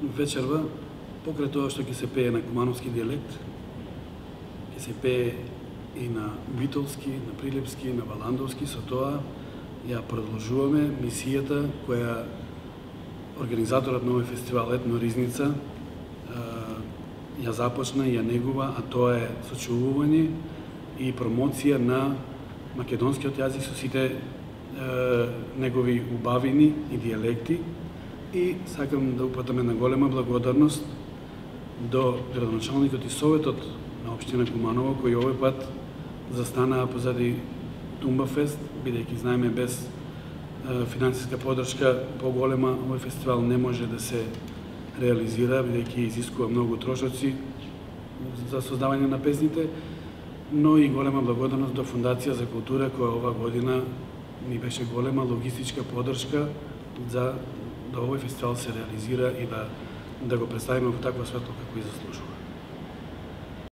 вечерва, покрај тоа што ќе се пее на кумановски дијалект, ќе се пее и на битолски, на прилепски, на валандовски, со тоа ја продолжуваме мисијата која организаторот на овој фестивал Етно Ризница ја започна и ја негува, а тоа е сочувување и промоција на македонскиот јазик со сите негови убавини и дијалекти. И сакам да упатам една голема благодарност до градоначалникот и советот на општина Куманово, кои овој пат застанаа позади Тумбафест, бидејќи знаеме без финансиска поддршка поголема овој фестивал не може да се реализира, бидејќи изискува многу трошоци за создавање на песните, но и голема благодарност до Фондација за култура, која ова година ни беше голема логистичка поддршка да овој фестивал се реализира и да го представиме во таква светло како и заслужува.